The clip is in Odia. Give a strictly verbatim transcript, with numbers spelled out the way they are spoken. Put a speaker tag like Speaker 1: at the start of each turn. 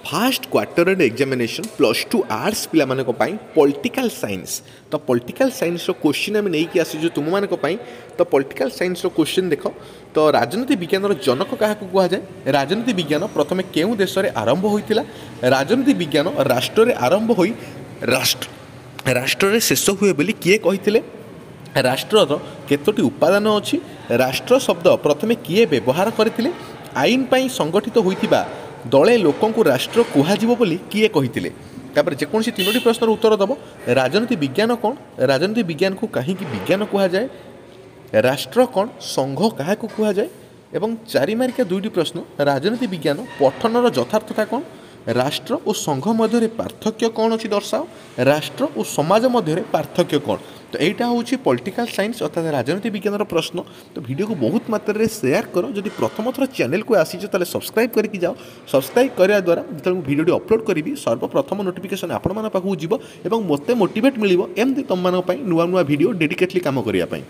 Speaker 1: First quarter end examination plus two arts ପିଲାମାନଙ୍କ ପାଇଁ ପଲିଟିକାଲ୍ ସାଇନ୍ସ। ତ ପଲିଟିକାଲ୍ ସାଇନ୍ସର କୋଶ୍ଚିନ୍ ଆମେ ନେଇକି ଆସିଛୁ ତୁମମାନଙ୍କ ପାଇଁ। ତ ପଲିଟିକାଲ୍ ସାଇନ୍ସର କୋଶ୍ଚିନ୍ ଦେଖ। ତ ରାଜନୀତି ବିଜ୍ଞାନର ଜନକ କାହାକୁ କୁହାଯାଏ? ରାଜନୀତି ବିଜ୍ଞାନ ପ୍ରଥମେ କେଉଁ ଦେଶରେ ଆରମ୍ଭ ହୋଇଥିଲା? ରାଜନୀତି ବିଜ୍ଞାନ ରାଷ୍ଟ୍ରରେ ଆରମ୍ଭ ହୋଇ ରାଷ୍ଟ୍ର ରାଷ୍ଟ୍ରରେ ଶେଷ ହୁଏ ବୋଲି କିଏ କହିଥିଲେ? ରାଷ୍ଟ୍ରର କେତୋଟି ଉପାଦାନ ଅଛି? ରାଷ୍ଟ୍ର ଶବ୍ଦ ପ୍ରଥମେ କିଏ ବ୍ୟବହାର କରିଥିଲେ? ଆଇନ ପାଇଁ ସଂଗଠିତ ହୋଇଥିବା ଦଳେ ଲୋକଙ୍କୁ ରାଷ୍ଟ୍ର କୁହାଯିବ ବୋଲି କିଏ କହିଥିଲେ? ତାପରେ ଯେକୌଣସି ତିନୋଟି ପ୍ରଶ୍ନର ଉତ୍ତର ଦେବ। ରାଜନୀତି ବିଜ୍ଞାନ କ'ଣ? ରାଜନୀତି ବିଜ୍ଞାନକୁ କାହିଁକି ବିଜ୍ଞାନ କୁହାଯାଏ? ରାଷ୍ଟ୍ର କ'ଣ? ସଂଘ କାହାକୁ କୁହାଯାଏ? ଏବଂ ଚାରି ମାର୍କିଆ ଦୁଇଟି ପ୍ରଶ୍ନ, ରାଜନୀତି ବିଜ୍ଞାନ ପଠନର ଯଥାର୍ଥତା କ'ଣ? ରାଷ୍ଟ୍ର ଓ ସଂଘ ମଧ୍ୟରେ ପାର୍ଥକ୍ୟ କ'ଣ ଅଛି ଦର୍ଶାଅ। ରାଷ୍ଟ୍ର ଓ ସମାଜ ମଧ୍ୟରେ ପାର୍ଥକ୍ୟ କ'ଣ? ତ ଏଇଟା ହେଉଛି ପଲିଟିକାଲ୍ ସାଇନ୍ସ ଅର୍ଥାତ୍ ରାଜନୀତି ବିଜ୍ଞାନର ପ୍ରଶ୍ନ। ତ ଭିଡ଼ିଓକୁ ବହୁତ ମାତ୍ରାରେ ସେୟାର କର। ଯଦି ପ୍ରଥମ ଥର ଚ୍ୟାନେଲକୁ ଆସିଛ, ତାହେଲେ ସବସ୍କ୍ରାଇବ୍ କରିକି ଯାଅ। ସବସ୍କ୍ରାଇବ୍ କରିବା ଦ୍ୱାରା ଯେତେବେଳେ ମୁଁ ଭିଡ଼ିଓଟି ଅପଲୋଡ଼ କରିବି, ସର୍ବପ୍ରଥମ ନୋଟିଫିକେସନ୍ ଆପଣମାନଙ୍କ ପାଖକୁ ଯିବ ଏବଂ ମୋତେ ମୋଟିଭେଟ୍ ମିଳିବ ଏମିତି ତୁମମାନଙ୍କ ପାଇଁ ନୂଆ ନୂଆ ଭିଡ଼ିଓ ଡେଡିକେଟଲି କାମ କରିବା ପାଇଁ।